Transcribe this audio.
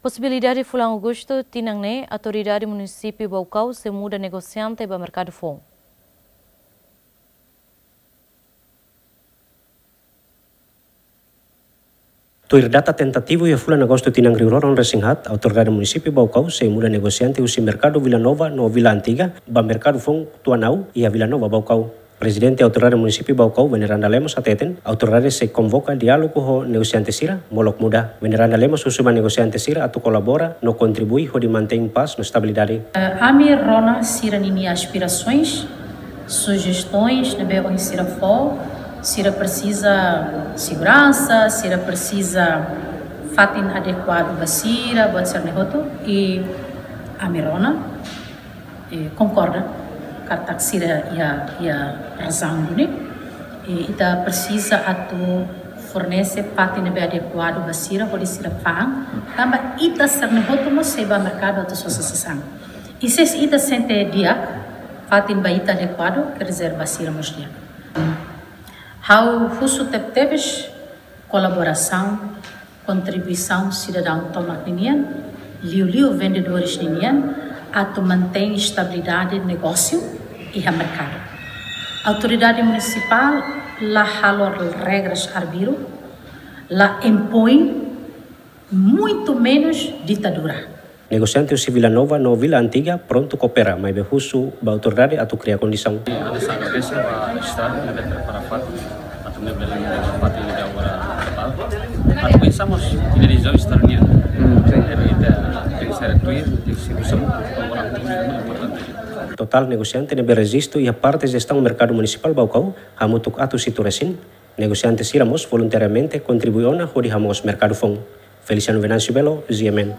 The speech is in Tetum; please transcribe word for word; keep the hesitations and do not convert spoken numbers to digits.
Posibilidade fulan Agostu tinan ne'e, Autoridade Munisípiu Baucau sei muda negosiante ba merkadu foun. Tuir data tentativu iha fulan Agostu tinan rihun rua ruanulu-resin-haat, Autoridade Munisípiu Baucau sei muda negosiante husi merkadu Vila Nova no Vila Antiga ba merkadu foun Tuanau iha Vila Nova, Baucau. Prezidente Autoridade Munisípiu Baucau, Veneranda Lemos, hateten, autoridade sei konvoka diálogu ho negosiante sira molok muda. Veneranda Lemos husu ba negosiante sira atu kolabora no kontribui hodi mantein pás no estabilidade. Eh, ami rona sira-nia aspirasoens, sujestaun ne'ebé ohin sira fó, sira presiza seguransa, sira presiza fatin adekuadu ba sira, buat sira-ne'e hotu, i ami rona, eh, konkorda katak sira iha, iha razaun duni. Eh, ita presiza atu fornese fatin ne'ebé adekuadu ba sira, hodi sira fa'an, tanba ita sira-ne'e hotu mós sei ba merkadu atu sosa sasán. I se ita sente di'ak, fatin ba ita adekuadu, quer dizer, ba sira mós di'ak. Ha'u husu tebetebes kolaborasaun, kontribuisaun sidadaun tomak ninian, liuliu vendedores ninian, atu mantein estabilidade negósiu iha merkadu. Autoridade Munisipál la halo regras arbiru, la impoin, muito menos ditadura. Negosiante husi Vila Nova no Vila Antiga prontu koopera, maibé husu ba autoridade atu kria kondisaun. Ha'u agradese ba Estadu ne'ebé prepara fatin atu ne'ebé lagi fatin de agora. Atu pensamos ida-ne'e Estadu nian. Hmm, sí. Pero ita tenke ser tuir, tenke ser usam, importante. Totál negosiante ne'ebé rejistu iha parte jestaun merkadu munisipál Baucau, hamutuk atus hitu resin. Negosiante sira mós voluntariamente kontribui ona hodi hamoos merkadu foun. Feliciano Venâncio Belo, G M N.